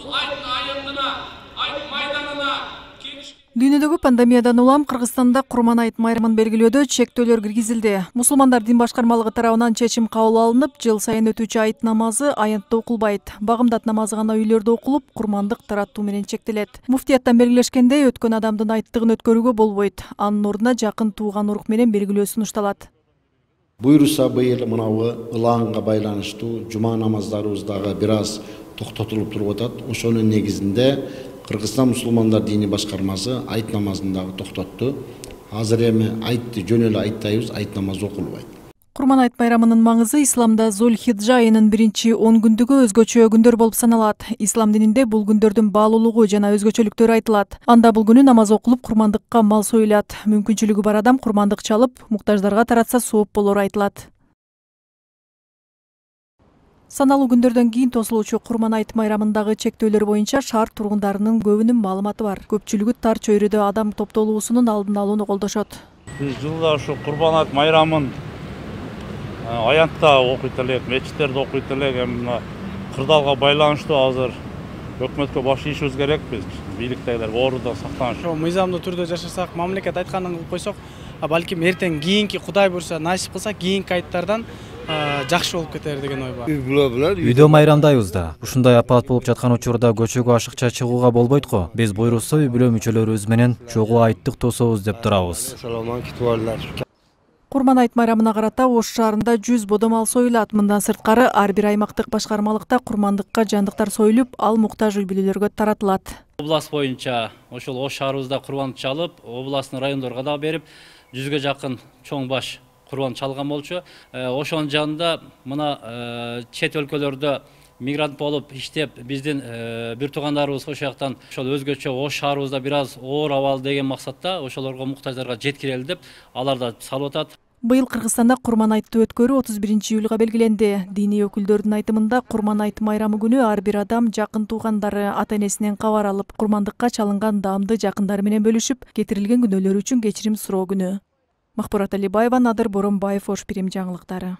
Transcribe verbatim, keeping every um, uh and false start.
бул айттын аянтына, айт майданына келиш. Дүйнөдөгү пандемиядан улам Кыргызстанда Курман айт майрамын белгилөөдө чектөөлөр киргизилди. Мусулмандар дин башкармалыгы тарабынан чечим кабыл алынып, жыл сайын өтүүчү айт намазы аянтта окулбайт. Багымдат намазы гана үйлөрдө окулуп, курмандык таратуу менен чектелет. Муфтияттан белгилешкендей, өткөн адамдын айттыгын өткөрүүгө болбойт. Анын ордуна жакын тууган урук менен белгилөө сунушталат. Буйруса быйыл мынабы ылаанга байланыштуу жума намаздарыбыз дагы бир аз токтотулуп туруп атат. Ошонун негизинде Кыргызстан мусулмандар дини башкармасы айт намазын дагы токтотту. Азыр эми айтты жөн эле айттайбыз, айт намазы окулбайт. Курман айт байрамынын маңызы исламда Зулхиджа айынын биринчи он күндүгү өзгөчө күндөр болуп саналат. Ислам дининде бул күндөрдүн баалуулугу жана өзгөчөлүктөрү айтылат. Анда бул күнү намаз окулуп, курмандыкка мал союлат. Мүмкүнчүлүгү бар адам курмандык чалып, муктаждарга таратса сооп болору айтылат. Саналуу күндөрдөн кийин тосулуучу Курман айт майрамындагы чектөөлөр боюнча шаар тургундарынын көбүнүн маалыматы бар. Көпчүлүгү тар чөйрөдө адам топтолуусунун алдын алууну колдошот. Биз жылда ушу Курман айт майрамын аянтта окуйт элек, мечиттерде окуйт элек. Эми мына кырдаалга байланыштуу азыр өкмөткө баш ийишибиз керек. Биз бийликтегилер оруда сактаныш. Мыйзамдуу түрдө жашасак, мамлекет айтканын кылып койсок, балким эртең кийинки Кудай буйруса насип кылса, кийинки айттардан жакшы болуп кетер деген ой бар. Үйдө майрамдайбыз да. Ушундай апат болуп жаткан учурда көчөгө ашыкча чыгууга болбойт го. Биз буйрусса үй бүлө мүчөлөрүбүз менен чогуу айттык тособуз деп турабыз. Курман айт майрамына карата Ош шаарында жүз бодо мал союлат. Мындан сырткары ар бир аймактык башкармалыкта курмандыкка жандыктар союлуп, ал муктаж үй бүлөлөргө таратылат. Область боюнча ошол Ош шаарыбызда курбан чалып, областтын райондорго да берип, жүзгө жакын чоң баш курбан чалган болчу. Ошонун жанында мына чет өлкөлөрдө мигрант болуп иштеп, биздин бир туугандарыбыз ошол жактан ошол өзгөчө Ош шаарыбызда бир аз оор абал деген максатта ошолорго муктаждарга жеткирели деп алар да салып атат. Быйыл Кыргызстанда Курман айтты өткөрүү отуз биринчи июлга белгиленди. Диний өкүлдөрдүн айтымында Курман айт майрамы күнү ар бир адам жакын туугандары, ата-энесинен кабар алып, курмандыкка чалынган даамды жакындары менен бөлүшүп, кетирилген күнөөлөр үчүн кечирим суроо күнү. Махбурат Алибаева, Надыр Боронбаев, Ош Пирим жаңылыктары.